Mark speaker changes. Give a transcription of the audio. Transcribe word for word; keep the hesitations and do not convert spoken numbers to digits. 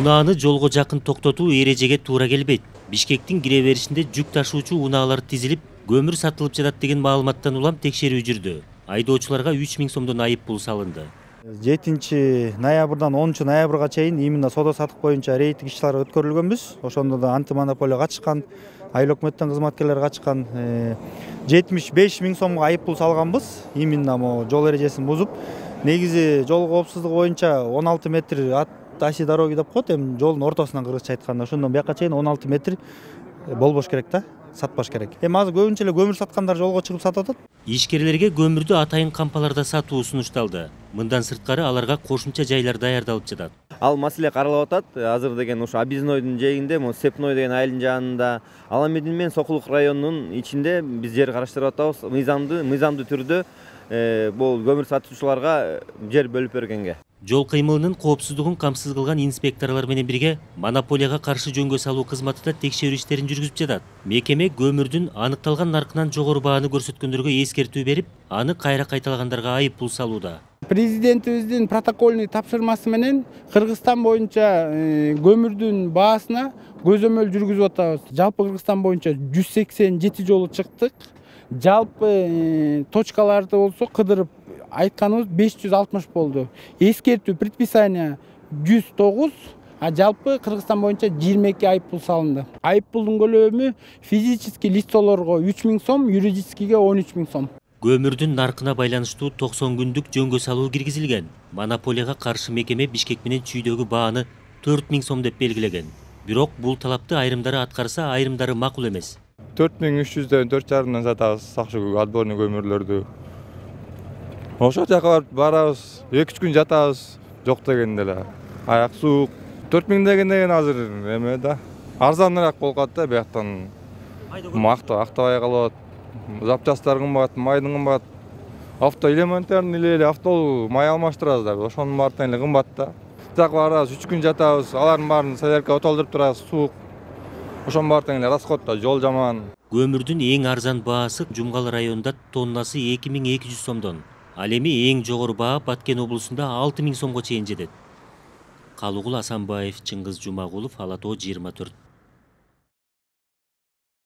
Speaker 1: Унааны жолго жакын токтотуу эрежеге туура келбейт. Бишкектин кире беришинде жүк ташуучу унаалар тизилип, көмүр сатылып жатат деген маалыматтан улам текшерүү жүрдү. Айдоочуларга үч миң сомдон айып пул салынды.
Speaker 2: жетинчи ноябрдан онунчу ноябрга чейин именно соода сатык боюнча рейдтик иш-чаралар өткөрүлгөнбүз. Ошондо да антимонополия катышкан, айыл өкмөттүн кызматкерлери катышкан. жетимиш беш миң сомго айып пул салганбыз. Именно могу жол эрежесин бузуп, негизи жол коопсуздугу боюнча он алты метр от оси дороги деп коет, эми жолдун ортосунан кыргызча айтканда. Ошондон бияка чейин он алты метр болбош керек да, сатпаш керек. Эми азыр көбүнчө эле көмүр саткандар жолго чыгып сатып атат.
Speaker 1: Ишкерлерге көмүрдү атайын кампаларда сатуу сунушталды. Мындан сырткары аларга кошумча жайлар даярдалып жатат.
Speaker 3: Ал маселе каралып атат. Азыр деген ушу Объезднойдун жээгинде, могу Степной деген айылдын жанында, Аламедин менен Сокулук районунун ичинде биз жер караштырып атабыз. Мыйзамдуу мыйзамдуу түрдө бул көмүр сатуучуларга жер бөлүп бергенге.
Speaker 1: Жол кыймылынын коопсуздугун камсыз кылган инспекторлор менен бирге монополияга каршы жөнгө салуу кызматы да текшерүү иштерин жүргүзүп жатат. Мекеме көмүрдүн аныкталган наркынан жогору бааны көрсөткөндөргө эскертүү берип, аны кайра кайталагандарга айып пул салууда.
Speaker 4: Президентибиздин протокольный тапшырмасы менен Кыргызстан боюнча көмүрдүн баасына көзөмөл жүргүзүп атабыз. Жалпы Кыргызстан боюнча жүз сексен жети жолу чыктык. Жалпы точкаларды болсо кыдырып айтканыбыз беш жүз алтымыш болду. Эскертүү предписание жүз тогуз, а жалпы Кыргызстан боюнча жыйырма эки айып пул салынды. Айып пулдун көлөмү физический лицолорго үч миң сом, юридическийге он үч миң сом.
Speaker 1: Көмүрдүн наркына байланыштуу токсон күндүк жөнгө салуу киргизилген. Монополияга каршы мекеме Бишкек менен Чүйдөгү бааны төрт миң сом деп белгилеген. Бирок бул талапты айрымдары аткарса, айрымдары макул эмес.
Speaker 5: төрт миң үч жүздөн төрт жарымдан сатабыз сакчы отборный көмүрлөрдү. Ошол жака барып барабыз, эки үч күн жатабыз, жок дегенде эле. Аяк суук. төрт миң дегенде азыр эме да. Арзаныраак болуп калат да, бияктан. Макта актабай калат. Запчастар кымбат, майдын кымбат. Автоэлементтерин эле автол май алмаштырабыз да, ошонун баардыгы эле кымбат да. Жак барабыз, үч күн жатабыз, алардын баарын солярка отолдуруп турабыз, суук. Ошонун баардыгы эле расход да, жол жаман.
Speaker 1: Көмүрдүн эң арзан баасы Жумгал районунда тоннасы эки миң эки жүз сомдон. Ал эми эң жогору баа Баткен облусунда алты миң сомго чейин жетет. Калугул Асанбаев, Чыңгыз Жумагулов, Ала Тоо жыйырма төрт.